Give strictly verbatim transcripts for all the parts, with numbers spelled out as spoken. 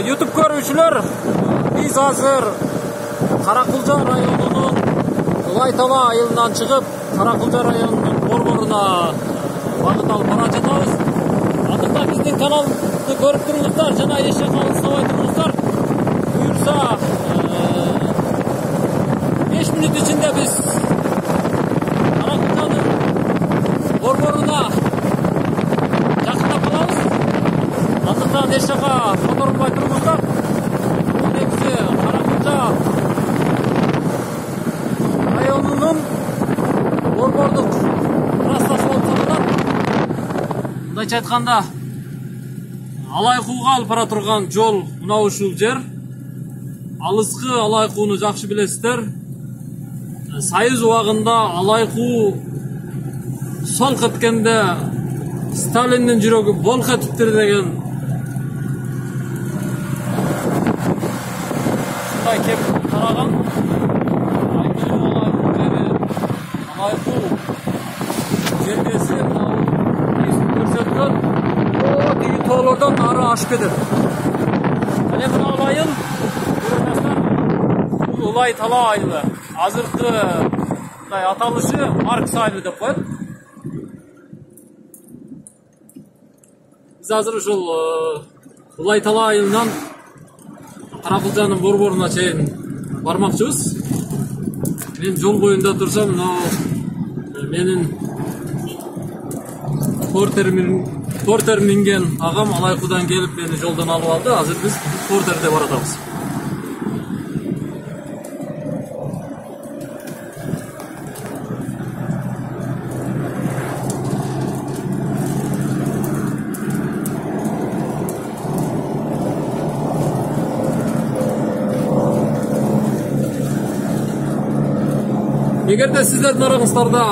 YouTube көрүүчүлөр, биз азыр Каракулжа районунун Ылай-Тала айылынан чыгып, Каракулжа районунун борборуна багыт алып бара жатабыз. Андыктан биздин каналды көрүп туруңуздар жана эшек алыстабай туруңуздар. Буюрса беш мүнөт ичинде биз Каракулжанын борборуна жакындап калабыз. Андыктан эшекка которулбай туруңуздар. Бул негизи Каракулжа районунун борбордук трассасы болуп саналат. Мындайча айтканда, Алайкууга алып бара турган жол мына ушул жер. Алыскы Алайкууну жакшы билесиздер. Союз убагында Алайкуу солк эткенде Сталиндин жүрөгү болк этиптир деген ушундай кеп тараган. Алайкуу жердеси көрсөткөн тиги тоолордон нары ашып кетет. Эне мына айыл бул Ылай-Тала айылы. Азыркы мындай аталышы Маркс айылы деп коет. Биз азыр ушул Ылай-Тала айылынан Каракулжанын борборуна чейин бармакчыбыз. Мен жол боюнда турсам, мына менин портер минген агам Алайкуудан келип мени жолдон алып алды. Азыр биз портерде баратабыз. Эгерде сиздердин араңыздарда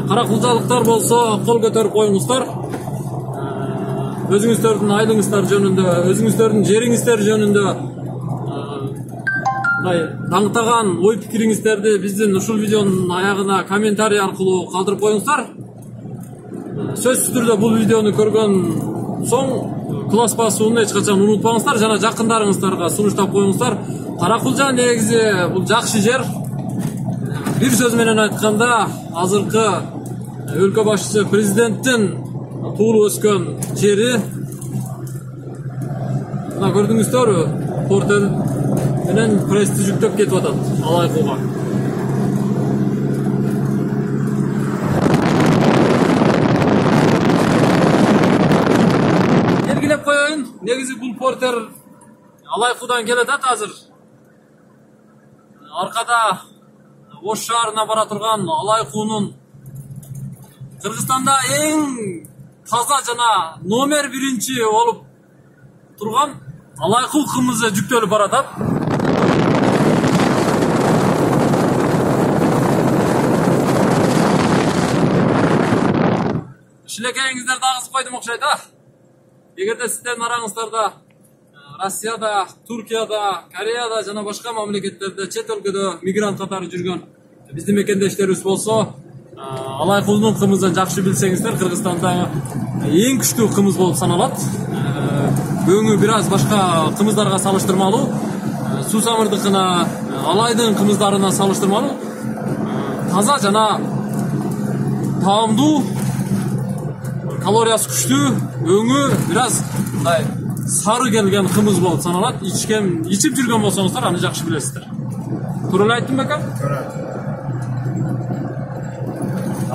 каракулжалыктар болсо, кол көтөрүп коюңуздар. Өзүңүздөрдүн айылыңыздар жөнүндө, өзүңүздөрдүн жериңиздер жөнүндө мындай таңтаган ой пикириңиздерди биздин ушул видеонун аягына комментарий аркылуу калтырып коюңуздар. Сөзсүз түрдө бул видеону көргөн соң класс басууну эч качан унутпаңыздар жана жакындарыңыздарга сунуштап коюңуздар. Каракулжа негизи бул жакшы жер. Бир сөз менен айтканда, азыркы өлкө башчысы президенттин туулуп өскөн жери. Мына көрдүңүздөрбү? Портер менен прести жүктөп кетип атат Алайкууга. Белгилеп коеюн, негизи бул портер Алайкуудан келатат азыр. Аркада Ош шаарына бара турган Алайкуунун Кыргызстанда эң таза жана номер биринчи болуп турган Алайкуу кымызы жүктөлүп баратат. Шилекейиңиздерди агызып койдум окшойт, а? Эгерде сиздердин араңыздарда Россияда, Туркияда, Кореяда жана башка мамлекеттерде чет өлкөдө мигрант катары жүргөн биздин мекендештерибиз болсо, Алайкуунун кымызын жакшы билсеңиздер, Кыргызстанда эң күчтүү кымыз болуп саналат. Өңү бир аз башка кымыздарга салыштырмалуу, Суусамырдыкына, Алайдын кымыздарына салыштырмалуу таза жана таамдуу, калориясы күчтүү, өңү бир аз мындай сары келген кымыз болуп саналат. Ичкен, ичип жүргөн болсоңуздар, аны жакшы билесиздер. Туура эле айттым бекем? Туура.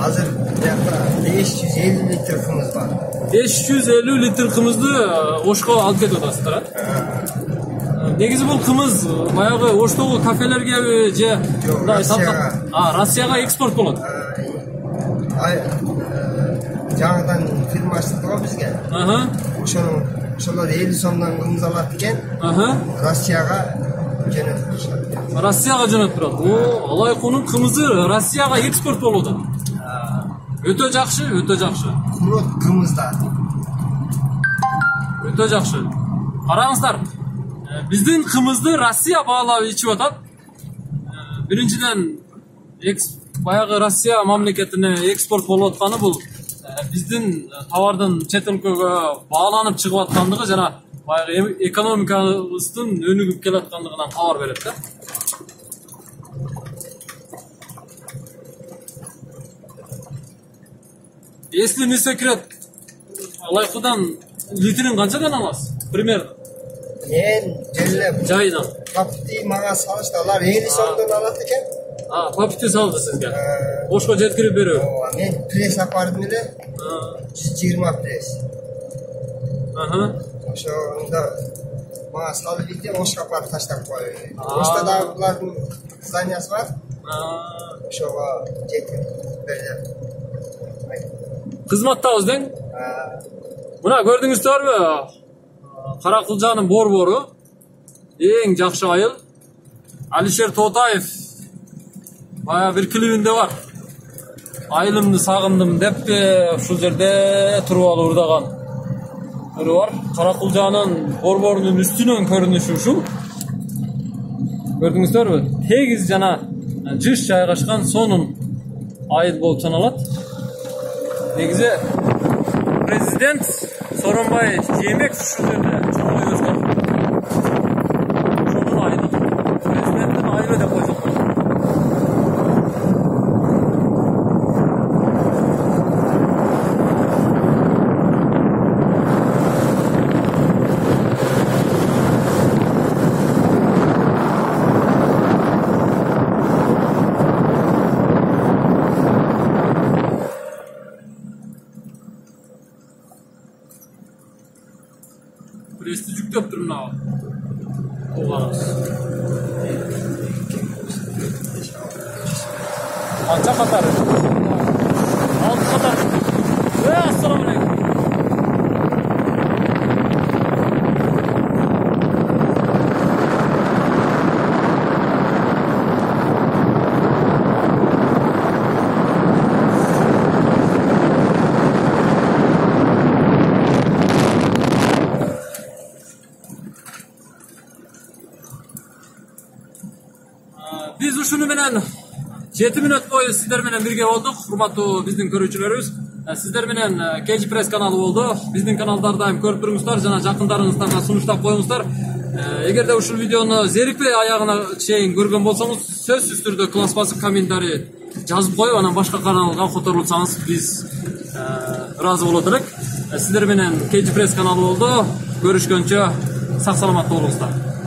Азыр беш жүз элүү литр кымыз бар. беш жүз элүү литр кымызды Ошко алып кетип атасыздар, а? Негизи бул кымыз баягы Оштогу кафелергеби же мындай Россияга. А, Россияга экспорт болот. Жаңадан фирма ачтык го бизге. Аха. Ошонун ошолор элүү сомдон кымыз алат экен. Аха. Россияга жөнөтүп турушат. Россияга жөнөтүп турат. О, Алайкуунун кымызы Россияга экспорт болуп атат. Өтө жакшы, өтө жакшы. Курот кымыздар. Өтө жакшы. Караңыздар, биздин кымызды Россия баалап ичип атат. Биринчиден, баягы Россия мамлекетине экспорт болуп атканы бул биздин товардын чет өлкөгө бааланып чыгып аткандыгы жана баягы экономикабыздын өнүгүп келаткандыгынан кабар берет да. Если не секрет, лайкыдан литрин канчадан аласыз? Примерно. Мен желеп Жайынан. папти мага салышты. Алар элүү сомдон алат экен. А, папти салды сизге. Ошко жеткирип берүү. Мен пресс апардым эле. жүз жыйырма пресс. Аха. Ошондо мага салып бирде Ошко апарып таштап коюу. Ошто дагы булардын зданиясы бар. Ошого жетип берди. Кызматтабыз дең. Мына көрдүңүздөрбү? Каракылжанын борбору эң жакшы айыл. Алишер Тоотаев бая бир клибинде бар. Айылымды сагындым депти, ушул жерде туруп алып урдаган. Көрү бар. Каракылжанын борборунун үстүнөн көрүнүшү ушул. Көрдүңүздөрбү? Тегиз жана жыш жайгашкан сонун айыл болуп саналат. Негизи президент Сооронбай Жээнбеков ушул жерде чоңоюп өскөн. Ошонун айылы. Президенттин айылы деп койсок болот. Прести жүктөп тур мына. Кулганыңыз. Канча катар? алты катар. Э, ассаламу алейкум. Биз ушуну менен жети мүнөт бою сиздер менен бирге болдук, урматтуу биздин көрүүчүлөрүбүз. Сиздер менен кей джи пресс каналы болду. Биздин каналдарды айым көрүп туруңуздар жана жакындарыңыздарга сунуштап коюңуздар. Эгерде ушул видеону зерикпей аягына чейин көргөн болсоңуз, сөзсүз түрдө класс басып комментарий жазып коюп, анан башка каналга которулсаңыз биз ыраазы болот элек. Сиздер менен кей джи пресс каналы болду. Көрүшкөнчө сак саламатта болуңуздар.